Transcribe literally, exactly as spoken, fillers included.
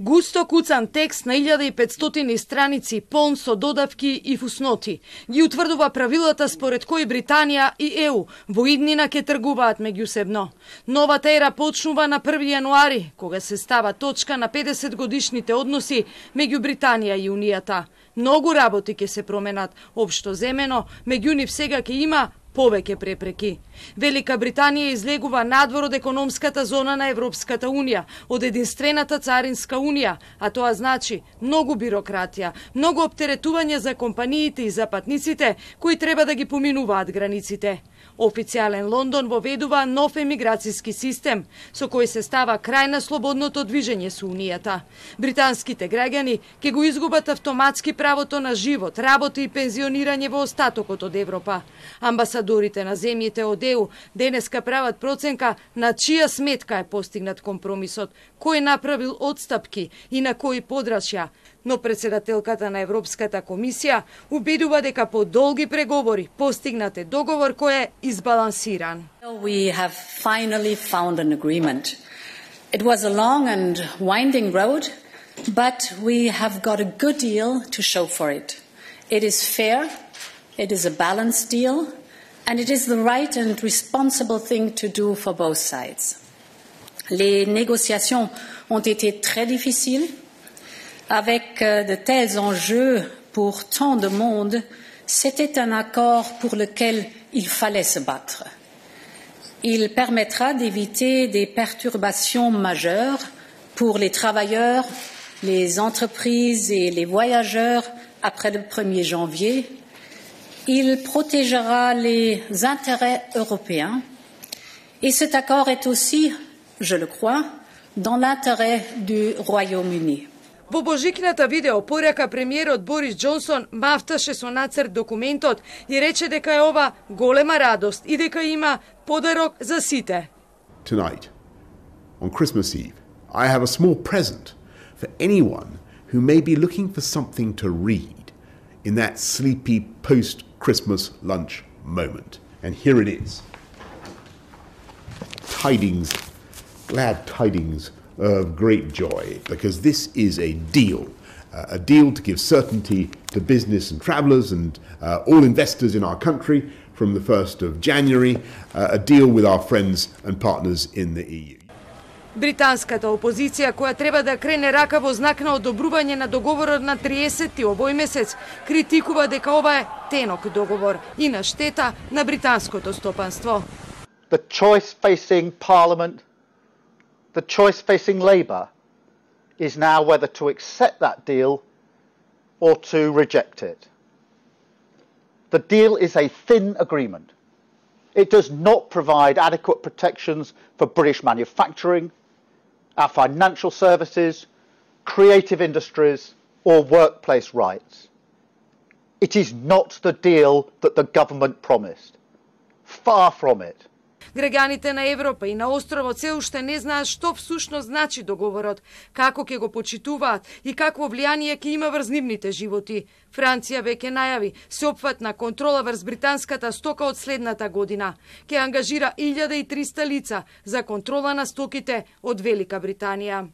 Густо куцан текст на илјада и петстотини страници, полн со додавки и фусноти, ги утврдува правилата според кои Британија и Е У во иднина ќе тргуваат меѓусебно. Новата ера почнува на први јануари, кога се става точка на педесет годишните односи меѓу Британија и Унијата. Многу работи ќе се променат, општо земено, меѓу нив сега ќе има повеќе препреки. Велика Британија излегува надвор од економската зона на Европската Унија, од единствената царинска унија, а тоа значи многу бирократија, многу оптеретување за компаниите и за патниците кои треба да ги поминуваат границите. Официјален Лондон воведува нов емиграцијски систем, со кој се става крај на слободното движење со Унијата. Британските граѓани ќе го изгубат автоматски правото на живот, работа и пензионирање во остатокот од Европа. Амбасадорите на земјите од Е У денеска прават проценка на чија сметка е постигнат компромисот, кој направил одстапки и на кои подрачја, но председателката на Европската комисија убедува дека по долги преговори постигнат е договор кој е избалансиран. We have finally found an agreement. It was a long and winding road, but we have got a good deal to show for it. It is fair, it is a balanced deal, and it is the right and responsible thing to do for both sides. Les négociations ont été très difficiles. Avec de tels enjeux pour tant de monde, c'était un accord pour lequel il fallait se battre. Il permettra d'éviter des perturbations majeures pour les travailleurs, les entreprises et les voyageurs après le premier janvier. Il protégera les intérêts européens et cet accord est aussi, je le crois, dans l'intérêt du Royaume-Uni. Во божикната видео порака премиерот Борис Џонсон мафташе со нацрт документот и рече дека е ова голема радост и дека има подарок за сите. Tonight, on Christmas Eve, I have a small present for anyone who may be looking for something to read in that sleepy post-Christmas lunch moment. And here it is. Tidings, glad tidings of great joy, because this is a deal, uh, a deal to give certainty to business and travellers and uh, all investors in our country from the first of January, uh, a deal with our friends and partners in the E U. Британската опозиција, која треба да крене рака во знак на одобрување на договорот на триесетти овој месец, критикува дека ова е тенок договор и на штета на британското стопанство. The choice facing Parliament, the choice facing Labour is now whether to accept that deal or to reject it. The deal is a thin agreement. It does not provide adequate protections for British manufacturing, our financial services, creative industries or workplace rights. It is not the deal that the government promised. Far from it. Граѓаните на Европа и на островот се уште не знаат што всушност значи договорот, како ќе го почитуваат и какво влијание ќе има врз нивните животи. Франција веќе најави сеопфатна контрола врз британската стока од следната година. Ќе ангажира илјада и триста лица за контрола на стоките од Велика Британија.